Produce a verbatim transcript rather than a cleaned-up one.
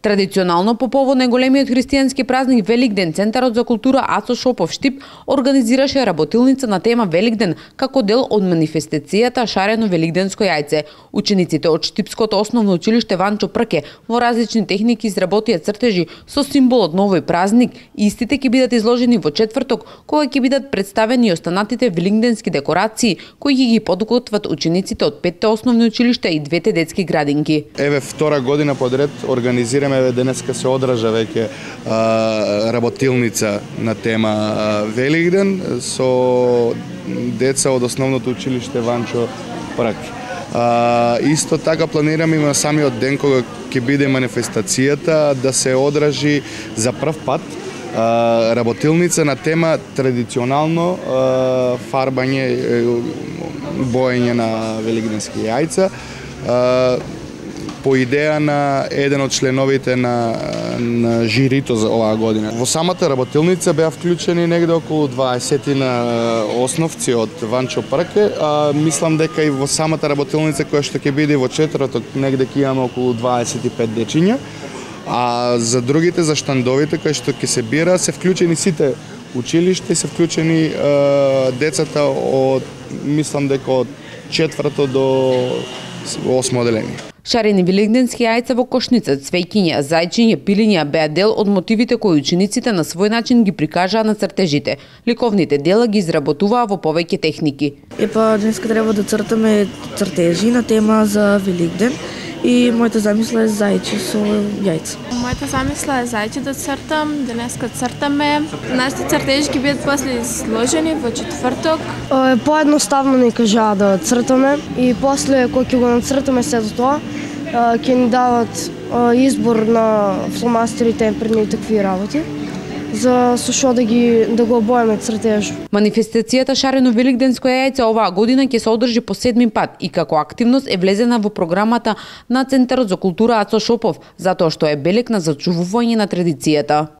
Традиционално по повод на големиот христијански празник Великден, Центарот за култура Ацо Шопов Штип организираше работилница на тема Великден како дел од манифестацијата Шарено великденско јајце. Учениците од Штипското основно училиште Ванчо Прке во различни техники изработија цртежи со символот на овој празник и истите ќе бидат изложени во четврток, кога ќе бидат представени останатите великденски декорации кои ги ги подготват учениците од петте основни училишта и двете детски градинки. Еве втора година подред организираме, еве денеска се одража веќе работилница на тема а, Великден со деца од основното училиште Ванчо Прке. А, исто така планираме и на самиот ден кога ќе биде манифестацијата да се одражи за прв пат а, работилница на тема традиционално а, фарбање, боење на великденски јајца. А, по идеја на еден од членовите на, на жирито за оваа година. Во самата работилница беа вклучени негде околу дваесет на основци од Ванчо Прке, а мислам дека и во самата работилница која што ќе биде во четврток негде ќе имаме околу дваесет и пет дечиња, а за другите, за штандовите кои што ќе се бира, се вклучени сите училишта и се вклучени е, децата од, мислам дека од четврто до осмо одделение. Шарени великденски јајца во кошница, цвеќиња, зајчиња, пилиња беа дел од мотивите кои учениците на свој начин ги прикажаа на цртежите. Ликовните дела ги изработуваа во повеќе техники. Епа, денеска треба да цртаме цртежи на тема за Великден и мојата замисла е зајче со јајца. Мојата замисла е зајче да цртам, денеска цртаме. Нашите цртежи ќе бидат после сложени во четврток. Поедноставно ни кажаа да цртаме и после кога ќе го нацртаме сето тоа, ќе ни дават избор на фломастерите пред такви работи, за со што да ги да го обоеме цртеж. Манифестацијата Шарено великденско јајце оваа година ќе се одржи по седми пат и како активност е влезена во програмата на Центарот за култура Ацо Шопов, затоа што е белег на зачувување на традицијата.